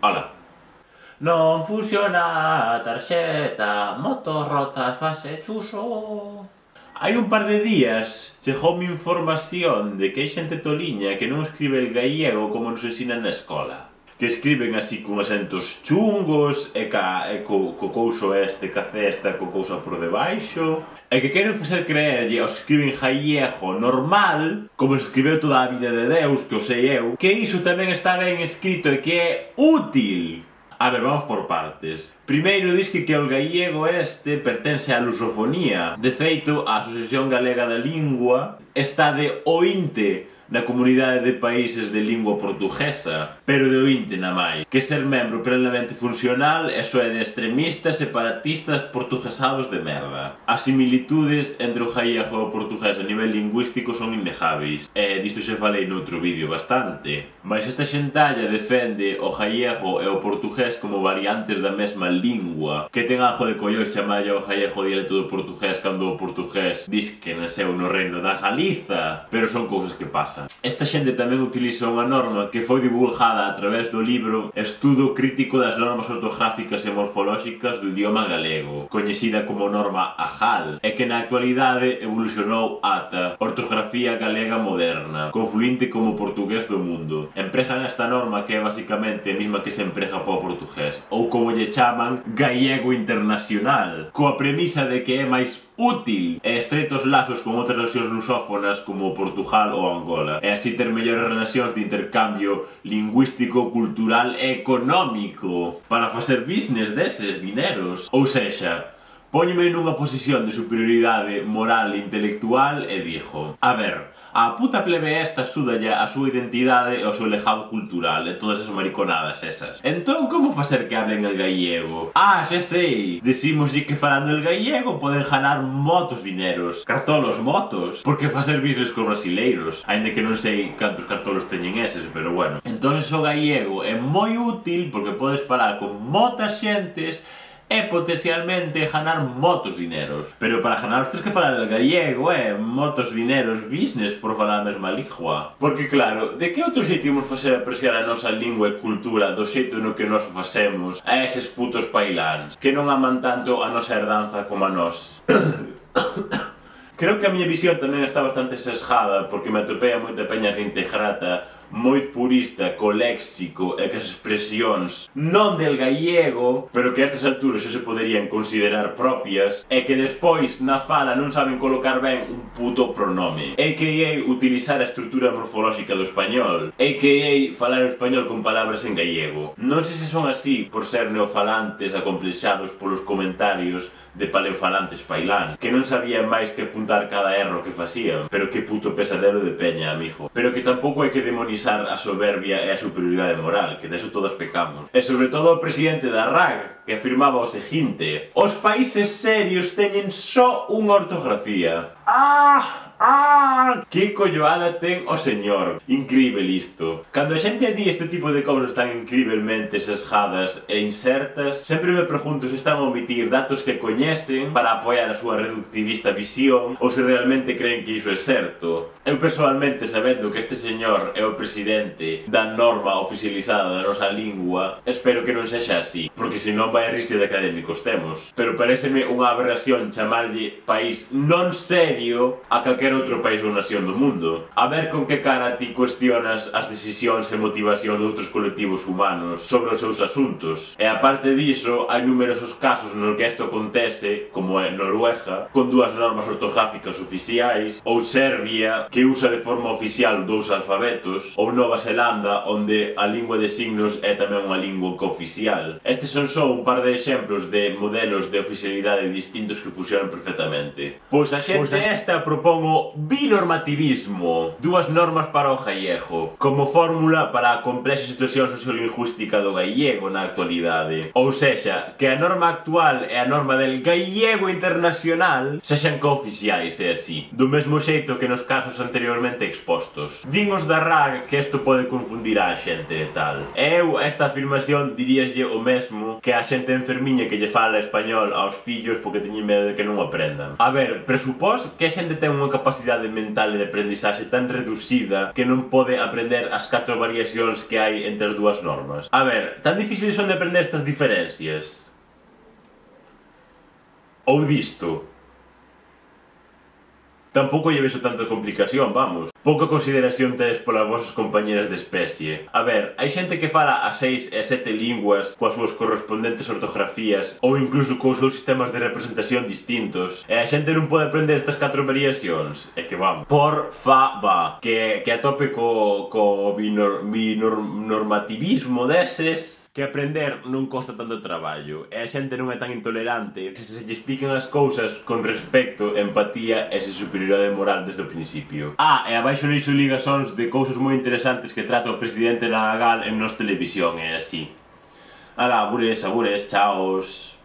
Hola. Non funciona a tarxeta, motos rotas, fase chuso. Hai un par de días chegoume información de que hai xente toliña que non escribe el gallego como nos ensinan na escola. Que escriben así con acentos chungos e co couso este, ca cesta, co couso por debaixo. E que queren facer creerlle aos que escriben gallego normal, como se escribeu toda a vida de Deus, que o sei eu, que iso tamén está ben escrito e que é útil. A ver, vamos por partes. Primeiro, dis que o gallego este pertence á lusofonía. De feito, a Asociación Galega da Lingua está de ointe na comunidade de países de lingua portuguesa, pero de ointe na máis. Que ser membro plenamente funcional e só é de extremistas, separatistas, portuguesados de merda. As similitudes entre o gallego e o portugués a nivel lingüístico son innegáveis, e disto xa falei noutro vídeo bastante. Mas esta xentalla defende o gallego e o portugués como variantes da mesma lingua, que ten algo de collóns chamarlle ao gallego dialecto do portugués cando o portugués dis que nasceu no reino da Galiza, pero son cousas que pasan. Esta xente tamén utiliza unha norma que foi divulgada a través do libro Estudo crítico das normas ortográficas e morfolóxicas do idioma galego, coñecida como norma AGAL, e que na actualidade evolucionou ata ortografía galega moderna, confluinte como portugués do mundo. Empregan esta norma que é basicamente a mesma que se emprega para o portugués, ou como lle chaman, gallego internacional, coa premisa de que é máis útil e estreitos lazos con outras nacións lusófonas como Portugal ou Angola, e así ter mellores relacións de intercambio lingüístico, cultural e económico para facer business deses dineros. Ou sexa, póñome nunha posición de superioridade moral e intelectual e dixo: a ver, a puta plebe esta súdalle a súa identidade e o seu legado cultural e todas as mariconadas esas. Entón, como facer que hablen el gallego? Ah, xa sei! Decímoslle que falando el gallego poden ganar motos dineros. Cartolos motos! Porque facer business con brasileiros. Ainda que non sei cantos cartolos teñen eses, pero bueno. Entón, o gallego é moi útil porque podes falar con motas xentes e potencialmente ganar motos dineros. Pero para ganar tens que falar el gallego, motos dineros business por falar a mesma lingua. Porque claro, de que outro xeito imos facer apreciar a nosa lingua e cultura do xeito no que nos facemos a eses putos pailáns que non aman tanto a nosa herdanza como a nós? Creo que a miña visión tamén está bastante sesgada porque me atopei a moita peña reintegrata moi purista co léxico e que as expresións non del gallego, pero que a estas alturas xa se poderían considerar propias e que despois na fala non saben colocar ben un puto pronome, a.k.a. utilizar a estrutura morfolóxica do español, a.k.a. falar o español con palabras en gallego. Non sei se son así por ser neofalantes acomplexados polos comentarios de paleofalantes pailán, que non sabían máis que apuntar cada erro que facían, pero que puto pesadelo de peña, amigo. Pero que tampouco hai que demonizar a soberbia e a superioridade moral, que deso todos pecamos. E sobre todo o presidente da RAG, que afirmaba o seguinte: os países serios teñen só unha ortografía. Que colloada ten o señor. Incrível isto. Cando a xente di este tipo de cousas tan incrivelmente sesgadas e insertas, sempre me pregunto se están a omitir datos que coñecen para apoiar a súa reductivista visión ou se realmente creen que iso é certo. Eu personalmente, sabendo que este señor é o presidente da norma oficializada da nosa lingua, espero que non sexa así, porque senón vai a risa de académicos temos. Pero pareceme unha aberración chamarlle país non serio a calquera outro país ou nación do mundo. A ver con que cara ti cuestionas as decisións e motivación de outros colectivos humanos sobre os seus asuntos. E aparte diso, hai numerosos casos nos que isto acontece, como é Noruega, con dúas normas ortográficas oficiais, ou Serbia, que usa de forma oficial dous alfabetos, ou Nova Zelanda, onde a lingua de signos é tamén unha lingua cooficial. Estes son só un par de exemplos de modelos de oficialidade distintos que fusionan perfectamente. Pois a xente esta propón o binormativismo, dúas normas para o gallego, como fórmula para a complexa situación sociolingüística do gallego na actualidade. Ou sexa, que a norma actual e a norma del gallego internacional sexan cooficiais e así, do mesmo xeito que nos casos anteriormente expostos. Din os da RAG que isto pode confundir a xente e tal. Eu, esta afirmación, diríaslle o mesmo que a xente enfermiña que lle fala español aos fillos porque teñen medo de que non o aprendan. A ver, presupós que a xente ten unha capacidade capacidade mental e de aprendizaxe tan reducida que non pode aprender as 4 variacións que hai entre as dúas normas. A ver, tan difíciles son de aprender estas diferencias? Ou disto? Tampouco lle vexo tanta complicación, vamos. Pouca consideración tedes polas vosas compañeras de especie. A ver, hai xente que fala a 6 e 7 linguas coas súas correspondentes ortografías ou incluso cos seus sistemas de representación distintos e a xente non pode aprender estas 4 variacións. É que vamos. Por fa, que a tope co binormativismo deses, que aprender non costa tanto traballo e a xente non é tan intolerante se lle explican as cousas con respecto, empatía e superioridade moral desde o principio. E abaixo lixo ligazóns de cousas moi interesantes que trata o presidente Nadal en Nos Televisión e así. Ala, abures, chaos.